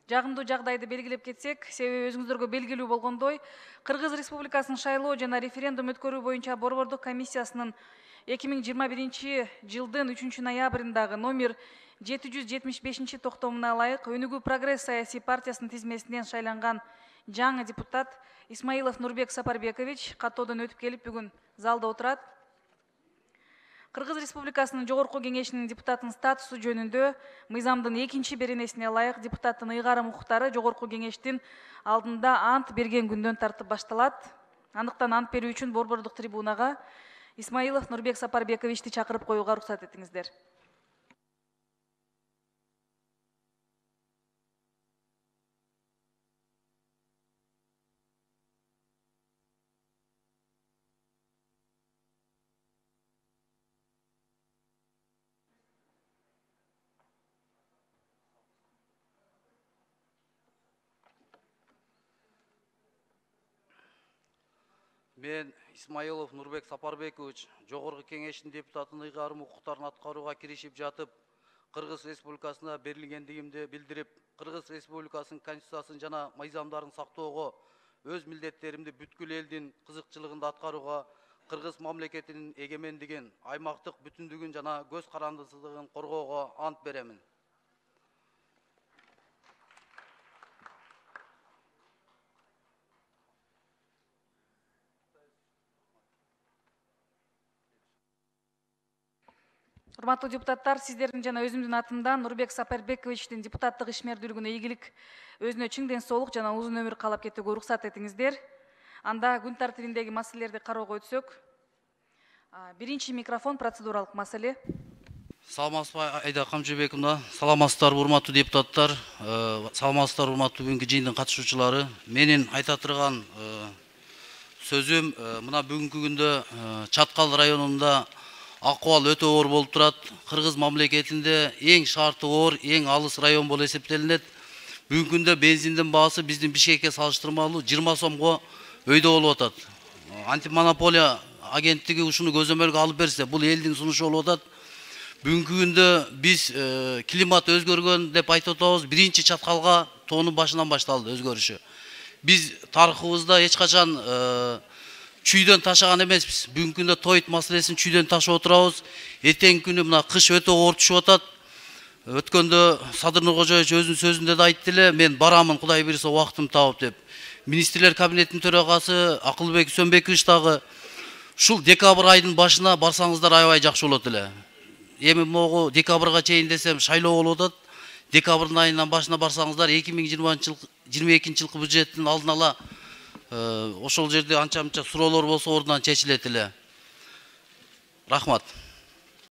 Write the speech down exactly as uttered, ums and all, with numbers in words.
жагымдуу жагдайды белгилеп кетсек, себеби өзүңүздөргө белгилүү болгондой, Кыргыз Республикасынын шайлоо жана референдум өткөрүү боюнча борбордук комиссиясынын эки миң жыйырма биринчи жылдын үчүнчү ноябрындагы номер жети жүз жетимиш бешинчи токтомуна ылайык Өнүгүү Прогресс саясий партиясынын тизмесинен шайланган жаңы депутат Исмаилов Нурбек Сапарбекович каттоодон өтүп келип бүгүн залда отурат. Кыргыз Республикасынын Жогорку Кеңешинин депутатынын статусу жөнүндө мыйзамдын экинчи беренесине ылайык депутаттын ыйгарым укуктары Жогорку Кеңештин алдында ант берген күндөн тартып башталат. Андыктан ант берүү үчүн борбордук трибунага Исмаилов Нурбек Сапарбековичти чакырып коюуга уруксат этиңиздер. Мен Исмаилов Нурбек Сапарбекович Жогорку Кеңештин депутатынын ыйгарым укуктарын аткарууга киришип жатып, Кыргыз Республикасына берилгендигимди билдирип, Кыргыз Республикасынын Конституциясын жана мыйзамдарын сактоого, өз милдеттеримди бүткүл элдин кызыкчылыгында аткарууга, Кыргыз мамлекетинин эгемендигин, аймактык бүтүндүгүн жана көз карандысыздыгын коргоого ант беремин. Урматтуу депутаттар, сиздердин жана өзүмдүн атымдан Нурбек Сапарбековичтин депутаттык ишмердүүлүгүнө ийгилик, өзүнө чың ден соолук жана узун өмүр каалап кетүүгө уруксат этиңиздер. Анда күн тартибиндеги маселелерди кароого өтсөк. Биринчи микрофон процедуралык маселе. Саламатсызбы Айда Камжыбековна, саламатсыздарбы урматтуу депутаттар, саламатсыздарбы урматтуу бүгүнкү жыйындын катышуучулары. Менин айта турган сөзүм мына бүгүнкү күндө Чаткал районунда акыбал өтө оор болуп турат. Кыргыз мамлекетинде эң шарты оор, эң алыс район болуп эсептелинет. Бүгүнкү күндө бензиндин баасы биздин Бишкекке салыштырмалуу жыйырма сомго өйдө болуп атат. Антимонополия агенттиги ушуну көзөмөлгө алып берсе, бул элдин сунушу болуп атат. Бүгүнкү күндө биз климат өзгөргөн деп айтып атабыз. Биринчи Чаткалга тоонун башынан башталды өзгөрүшү. Биз тарыхыбызда эч качан чүйдөн ташаган эмеспиз. Бүгүнкү күндө тоyt маселесин чүйдөн ташып отурабыз. Эртеңки күнү мына кыш өтө оор түшүп атат. Өткөндө Садыр Нуркожоевич өзүнүн сөзүндө да айтты эле, мен барамын Кудай буйрса убактым таап деп. Министрлер кабинетинин төрагасы Акылбек Сөнбекович дагы ушул декабрь айдын башына барсаңыздар аябай жакшы болот эле. Эми могу декабрга чейин десем шайлоо болуп атат. Декабрдын айынан башына барсаңыздар эки миң жыйырма экинчи жылкы бюджеттин алдын ала ошол жерде анча-мынча суроолор болсо ордунан чечилет эле. Рахмат.